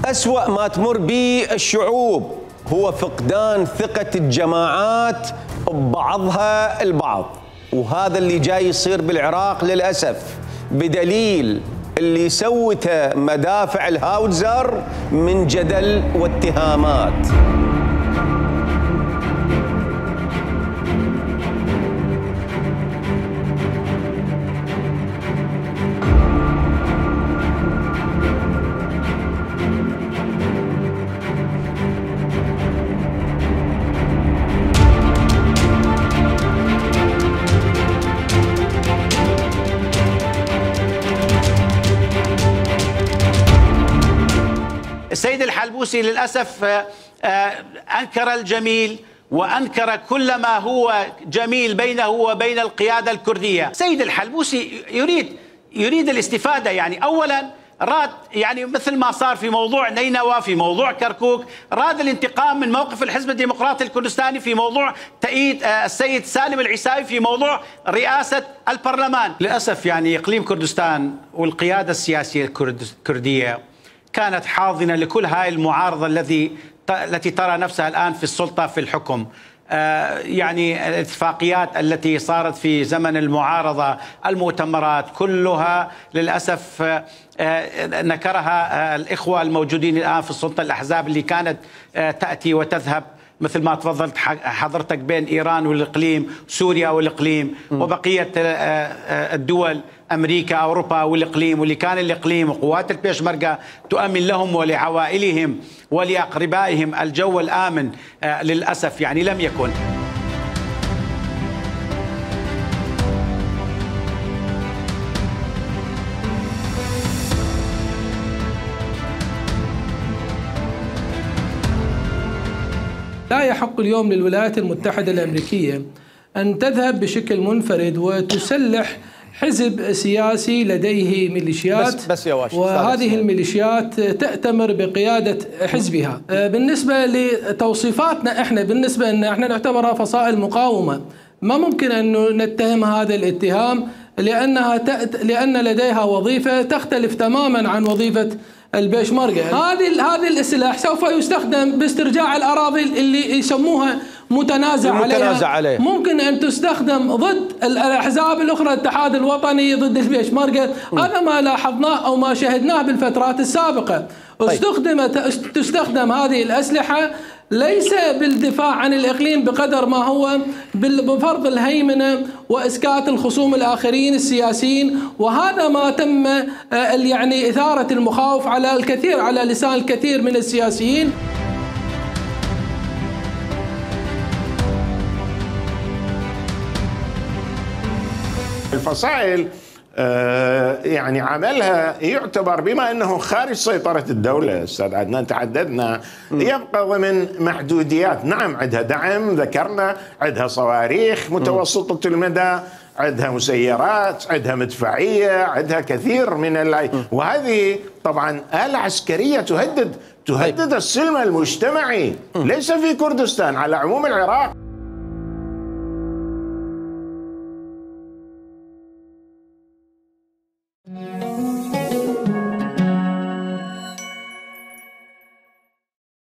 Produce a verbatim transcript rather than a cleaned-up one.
أسوأ ما تمر به الشعوب هو فقدان ثقة الجماعات ببعضها البعض، وهذا اللي جاي يصير بالعراق للأسف، بدليل اللي سوته مدافع الهاوتزر من جدل واتهامات. السيد الحلبوسي للأسف أنكر الجميل وأنكر كل ما هو جميل بينه وبين القيادة الكردية. السيد الحلبوسي يريد يريد الاستفادة، يعني أولا راد يعني مثل ما صار في موضوع نينوى، في موضوع كركوك، راد الانتقام من موقف الحزب الديمقراطي الكردستاني في موضوع تأييد السيد سالم العيساوي في موضوع رئاسة البرلمان. للأسف يعني إقليم كردستان والقيادة السياسية الكردية كانت حاضنة لكل هاي المعارضة الذي التي ترى نفسها الآن في السلطة في الحكم. آه يعني الاتفاقيات التي صارت في زمن المعارضة، المؤتمرات كلها للأسف آه آه نكرها آه الإخوة الموجودين الآن في السلطة، الأحزاب اللي كانت آه تأتي وتذهب مثل ما تفضلت حضرتك بين إيران والإقليم، سوريا والإقليم، وبقية الدول، أمريكا، أوروبا والإقليم، واللي كان الإقليم وقوات البيشمركة تؤمن لهم ولعوائلهم ولأقربائهم الجو الآمن، للأسف يعني لم يكن. لا يحق اليوم للولايات المتحدة الأمريكية أن تذهب بشكل منفرد وتسلح حزب سياسي لديه ميليشيات، بس بس يا وهذه الميليشيات تأتمر بقيادة حزبها. بالنسبة لتوصيفاتنا احنا، بالنسبة ان احنا نعتبرها فصائل مقاومة، ما ممكن أن نتهم هذا الاتهام لأنها تأت... لأن لديها وظيفة تختلف تماما عن وظيفة البيشمركة. هذه هذه السلاح سوف يستخدم باسترجاع الأراضي اللي يسموها متنازع عليها. عليه. ممكن أن تستخدم ضد الأحزاب الأخرى، الاتحاد الوطني ضد البيشمركة. هذا ما لاحظناه أو ما شاهدناه بالفترات السابقة. طيب. استخدمت تستخدم هذه الأسلحة ليس بالدفاع عن الإقليم بقدر ما هو بفرض الهيمنة وإسكات الخصوم الآخرين السياسيين، وهذا ما تم يعني إثارة المخاوف على الكثير على لسان الكثير من السياسيين. الفصائل يعني عملها يعتبر بما انه خارج سيطره الدوله. استاذ عدنان تحدثنا يبقى ضمن محدوديات. نعم عندها دعم، ذكرنا عندها صواريخ متوسطه المدى، عندها مسيرات، عندها مدفعيه، عندها كثير من اللاي، وهذه طبعا آلة عسكريه تهدد تهدد السلم المجتمعي ليس في كردستان، على عموم العراق.